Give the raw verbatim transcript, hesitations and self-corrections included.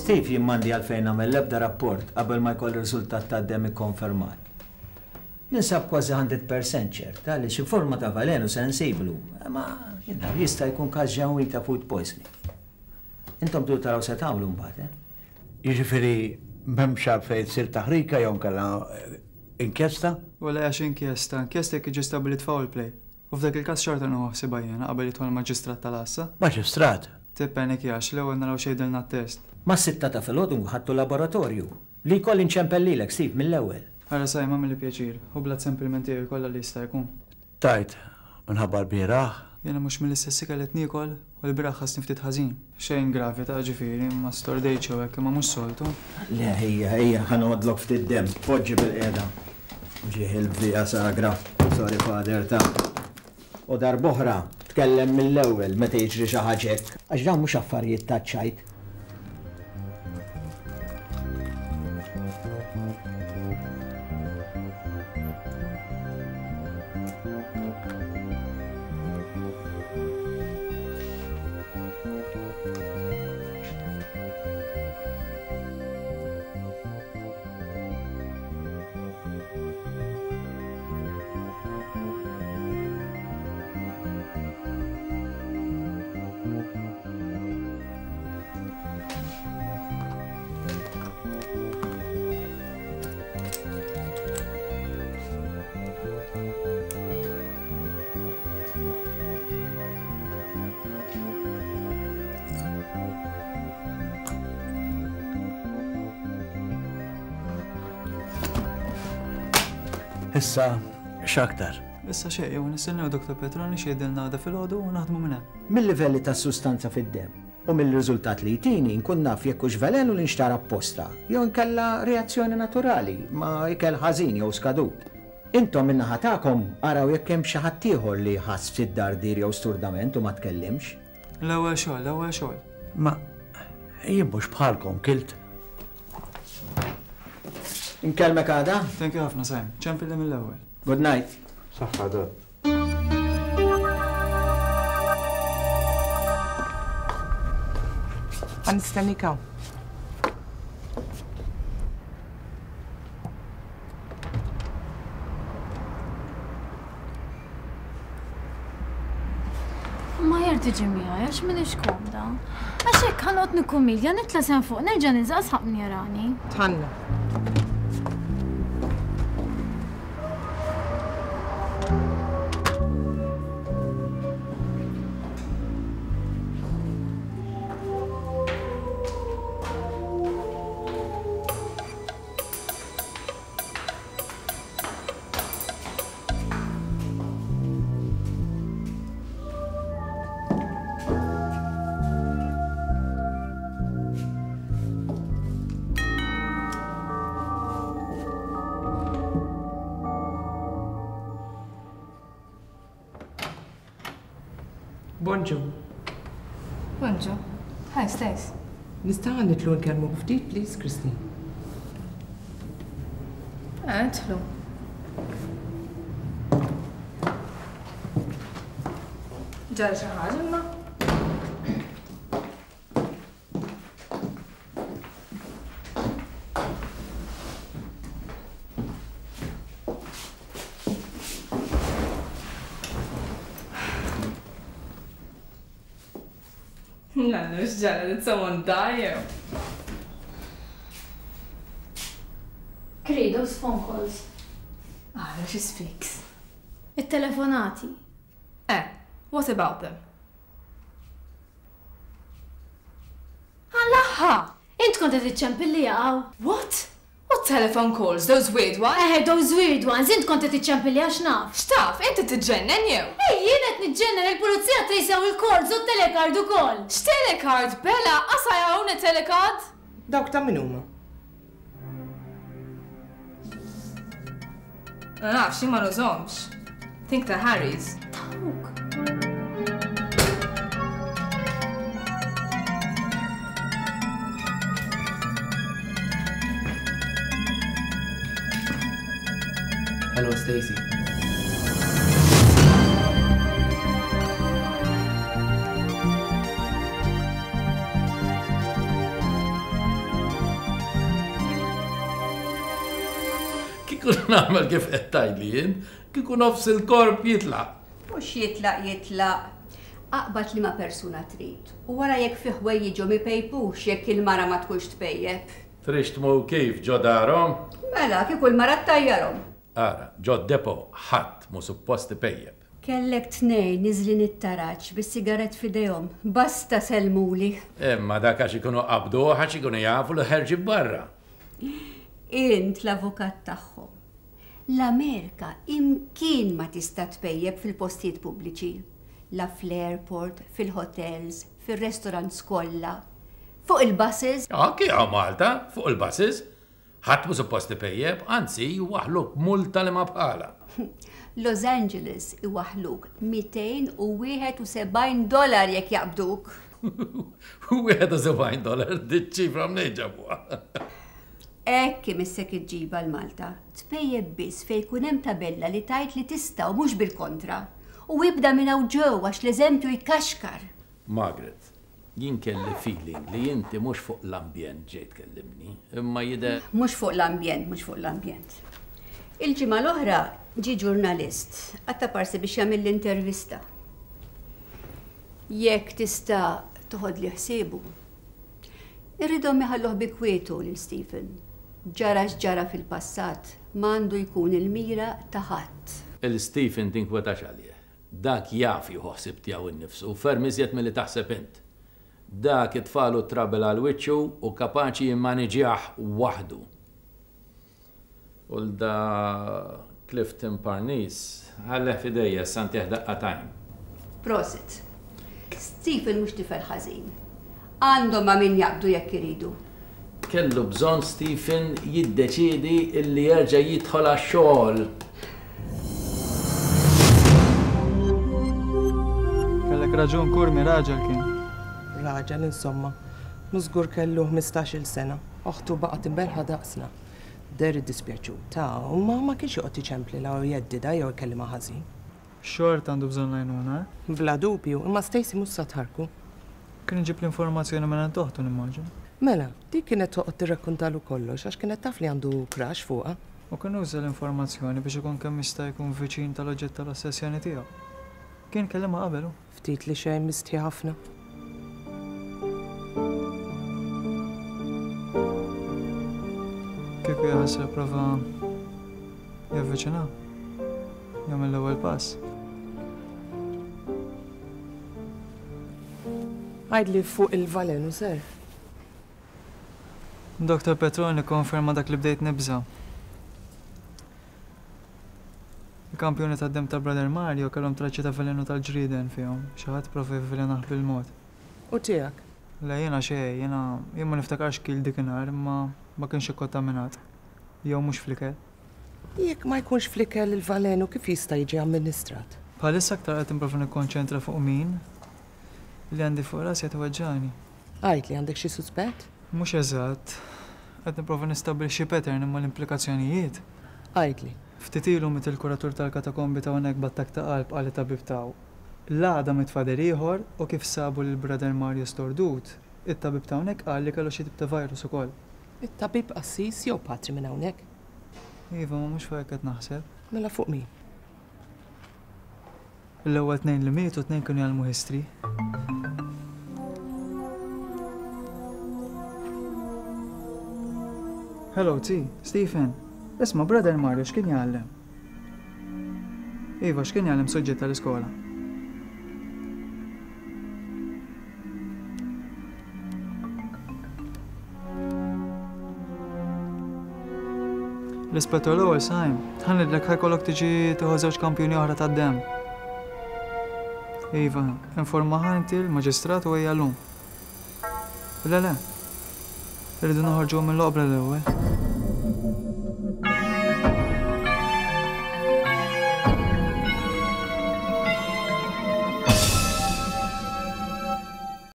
Steve, jien m'għandi għalfejn nagħmel l-ebda rapport qabel ma jkolli riżultat tad-demm ikkonfermat. Ninsab kważi hundred percent ċerta li xi forma ta' velenu se nsiblu, ma jiena jista' jkun każ ġenwin ta' food poisoning. Intom tridu taraw se tagħmlu mbagħad, eh? Jiġifieri m'hemmx għalfejn tsir taħrika jew inkella inkjesta? Wala għax inkjesta, inkjesta jekk jiġi stabbilit foul play. U f'dak il-każ xorta nieħu ħsiebha jiena qabel jidħol il-maġistrat tal-għassa. Maġistrat? Tippanikjax, l-ewwel naraw x'jgħidilna t-test. Mas-sitta ta' filgħodu ħadtu laboratorju. Li jkolli nċempellilek, Steve, mill-ewwel. Ara Sajma, għamilli pjaċir, ħu blood sample minn tiegħi kollha li jista' jkun. Tajt, minħabba l-bieraħ? Jiena mhux mill-istess ikel qed niekol u l-bieraħ ħassni ftit ħażin. Xejn gravi ta' ġifieri, ma stordejtx jew hekk, imma mhux soltu. Le, ejja, ejja, ħa noħodlok ftit demm. Poġġi bil-qiegħda. Ġieħ il-Via Sagra. Sorry, Father, ta' U darb'oħra, tkellem mill-ewwel meta jiġri xi ħaġa hekk. Għax dawn mhux affarijiet ta' ċajt. Issa, x'aktar? Issa xejn, jew nistennew Doktor Petroni x'jgħidilna għada filgħodu u naħdmu minn hemm. Mill-livelli tas-sustanza fid-demm u mill-riżultat li jtini nkun naf jekk hux velenu li nxtara apposta jew inkella reazzjoni naturali ma' ikel ħażin jew skadut. Intom min-naħa tagħkom araw jekk hemm xi ħadd ieħor li ħass ftit dardir jew sturdament u ma tkellimx. L-ewwel xogħol, l-ewwel xogħol. Ma jien mhux bħalkom kilt. Inkellmek għada? Thank you ħafna, Sajm. Ċempilli mill-ewwel. Good night. Saħħa, Dott. Ħa nistennik hawn. Ma aħjar tiġi miegħi għax m'iniex komda. Għax hekk ħa noqgħod nikkumilja, nitla' s'hemm fuq, nerġa' ninżel sħab min jarani. Tħanna. Bonġu. Bonġu. Hi, Stace. Nistgħu nidħlu nkellmu ftit, please, Christine? Eh, idħlu. Ġara xi ħaġa imma? Nannu, x'ġara, did someone die? Kri, those phone calls. Ah, she speaks. It-telefonati. Eh, what about them? Allaha! Int kont qed iċċempilli jaqgħu. What? What telephone calls? Those weird ones? Eh, those weird ones. Int kont qed iċċempilli għax naf. X'taf? Inti tiġġennen jew? Ej, jien qed niġġennen, il-pulizija trejsew il-calls u t-telecard ukoll. X'telecard, Bella? Qas I own a telecard? Dawk ta' min huma? Ma nafx, jien ma nużhomx. Think ta' Harry's. Tawk. Hello, Stacy. Kieku nagħmel kif qed tgħidli jien, kieku nofs il-korp jitlaq. Mhux jitlaq jitlaq. Aqbad li ma persuna trid. U wara jekk fi ħwejjiġhom ipejpux jekk il-mara ma tkunx tpejjeb. Trix tmur kif ġo darhom? Mela, kieku l-mara ttajjarhom. Ara, ġo depo ħadd mhu suppost ipejjeb. Kellek tnejn niżlin it-taraġ bis-sigarett f'idejhom. Basta sellmuli. Imma dak għax ikunu qabduh għax ikunu jafu li ħerġin barra. Int l-avukat tagħhom. L-Amerika imkien ma tista' tpejjeb fil-postijiet pubbliċi. La fl-airport, fil-hotels, fil-restaurants kollha, fuq il-buses. Anki hawn Malta, fuq il-buses. Ħadd mhu suppost ipejjeb, anzi jwaħħluk multa li ma bħala. Los Angeles iwaħħluk mitejn u wieħed u sebgħin dollar jekk jaqbduk. Wieħed u sebgħin dollar diċ-ċifra mnejn ġabuha. Hekk imissek iġġibha l-Malta. Tpejjeb biss fejn jkun hemm tabella li tgħid li tista' u mhux bil-kontra. U ibda minn hawn ġew għax l-eżempju jkaxkar. Margaret, jien kelli feeling li inti mhux fuq l-ambjent ġejt tkellimni, imma jidher. Mhux fuq l-ambjent, mhux fuq l-ambjent. Il-ġimgħa l-oħra ġie ġurnalist, għatta parsi biex jagħmel l-intervista. Jekk tista' toħodli ħsiebu. Irridhom iħalluh bi kwietu lil Stephen. Ġara x'ġara fil-passat, m'għandu jkun il-mira ta' ħadd. Il-Stephen tinkwetax għalih. Dak jaf jieħu ħsieb tiegħu nnifsu, ferm iżjed milli taħseb int. Dak itfalu trabel għal wiċċu u kapaċi jimmaniġjah waħdu. U l-da Clifton Parnis ħalleh f'idejja santih daqqa tajn. Prosit. Stephen mhux tifel ħażin. Għandhom ma' min jaqbdu jekk iridu. Kellu bżonn Stephen jiddeċiedi illi jerġa' jidħol għax-xogħol. Kellek raġun Curmi, raġel kien. Raġel insomma, mhux żgur kellu ħmistax-il sena. Oħtu baqgħet imbelħa daqsna. Der iddispjaċuta, u ma ma kienx joqgħod iċemplilha u jeddida jew ikellimha ħażin. Xort għandu bżonn l-għajnuna, eh? Bla dubju, imma Stacey mhux sa tħarku. Kien iġib l-informazzjoni minn għand oħtu nimmaġin. Mela, dik kienet toqgħod tirrakkontalu kollox għax kienet taf li għandu crush fuqha. U kien uża l-informazzjoni biex ikun kemm jista' jkun viċin tal-oġġett tal-ossessjoni tiegħu. Kien kellimha qabel hu. Ftit li xejn mistħi ħafna. Kieku jaħasra prova javviċina, jagħmel l-ewwel pass. Għidli fuq il-valenu ser. Doktor Petroni konferma dak li bdejt nibża. Il-kampjoni tad-dem ta' Brother Mario kellhom traċċi ta' velenu tal-ġrieden fihom, xi ħadd prova jivvelenah bil-mod. U tiegħek? Le jiena xejn, jiena jien ma niftakarx kil dikinhar, imma ma kienx ikkontaminat. Jew mhux fl-ikel. Jekk ma jkunx fl-ikel il-valenu kif jista' jiġi amministrat? Bħalissa aktar qed nipprova nikkonċentra fuq min li għandi fuq rasi qed iweġġani. Għid li għandek xi suspett? Mhux eżatt. Qed nipprova nistabbilixxi pattern imma l-implikazzjonijiet. Għidli. Ftit ilu miet il-kuratur tal-katakombi ta' hawnhekk b'attakk ta' qalb qal it-tabib tiegħu. L-għada miet fader ieħor u kif sabu lil Brother Mario stordut, it-tabib ta' hawnhekk qal li kellu xi tip ta' virus ukoll. It-tabib qassis jew patri minn hawnhekk? Iva, ma mhux fuq hekk qed naħseb. Mela fuq min? L-ewwel tnejn li mietu tnejn kienu jgħallmu history. Hello, T. Stephen. Isma' Brother Mario x'kien jgħallem? Iva, x'kien jgħallem suġġett tal-iskola? L-Ispettur Lowell Sajm, ħanidlek ħajkollok tiġi tieħu żewġ kampjuni oħra tad-demm. Iva, informa inti l-maġistrat u ejja llum. Le, le. Irridu noħorġu mill-oqbra l-ewwel.